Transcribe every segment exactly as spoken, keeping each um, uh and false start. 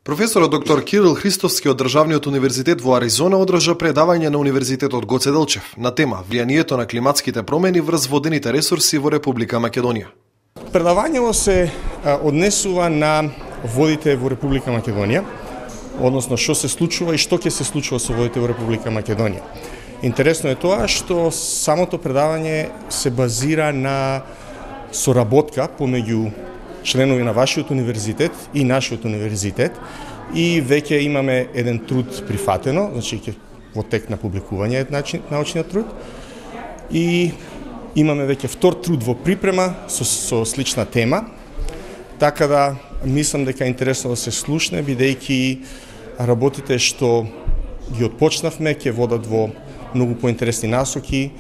Професорот доктор Кирил Христовски од Државниот универзитет во Аризона одржа предавање на Универзитетот Гоце Делчев на тема влијанието на климатските промени врз водените ресурси во Република Македонија. Предавањето се однесува на водите во Република Македонија, односно што се случува и што ќе се случува со водите во Република Македонија. Интересно е тоа што самото предавање се базира на соработка помеѓу членови на вашиот универзитет и нашиот универзитет и веќе имаме еден труд прифатено, значи ќе во тек на публикување е научниот труд и имаме веќе втор труд во припрема со, со слична тема, така да мислам дека е интересно да се слушне, бидејќи работите што ги отпочнавме ќе водат во многу поинтересни насоки,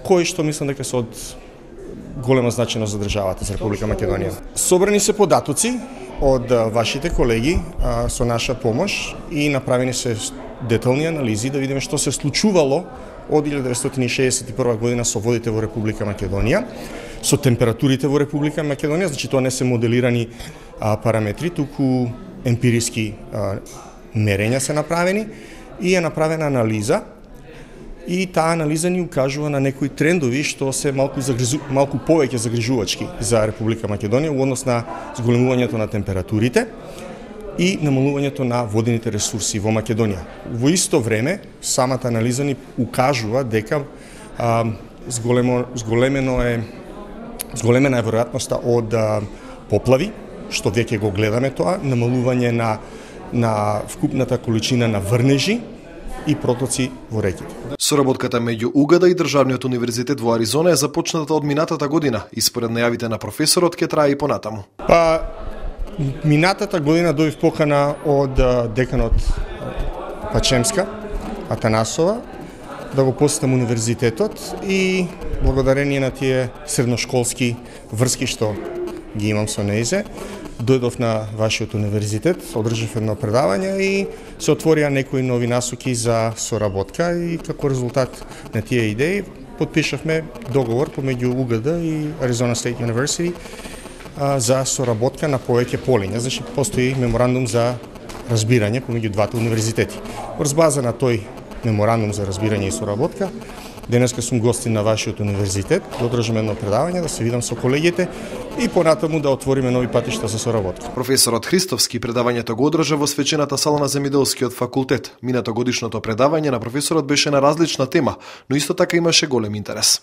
кои што мислам дека се од голема значајност за државата, за Република Македонија. Собрани се податоци од вашите колеги а, со наша помош и направени се детални анализи да видиме што се случувало од илјада деветстотини и шеесет и прва година со водите во Република Македонија, со температурите во Република Македонија, значи тоа не се моделирани а, параметри, туку емпириски а, мерења се направени и е направена анализа. И таа анализа ни укажува на некои трендови што се малку загрижу, малку повеќе загрижувачки за Република Македонија во однос на зголемувањето на температурите и намалувањето на водените ресурси во Македонија. Во исто време, самата анализа ни укажува дека а, зголемо, зголемено е зголемена е веројатноста од а, поплави, што веќе го гледаме тоа, намалување на на вкупната количина на врнежи и протоци во реките. Соработката меѓу УГД и Државниот универзитет во Аризона е започната од минатата година и според најавите на професорот ќе трае и понатаму. Па минатата година дојдов покана од деканот Пачемска Атанасова да го посетам универзитетот и благодарение на тие средношколски врски што ги имам со нејзе, дојдов на вашиот универзитет, одржав едно предавање и се отворија некои нови насоки за соработка и како резултат на тие идеи потпишавме договор помеѓу УГД и Arizona State University а, за соработка на повеќе полиња. Значи постои меморандум за разбирање помеѓу двата универзитети. Врз база на тој меморандум за разбирање и соработка, денеска сум гостин на вашиот универзитет, да одржам едно предавање, да се видам со колегите и понатаму да отвориме нови патишта за соработка. Професорот Христовски предавањето го одржа во свечената сала на Земјоделскиот факултет. Минато годишното предавање на професорот беше на различна тема, но исто така имаше голем интерес.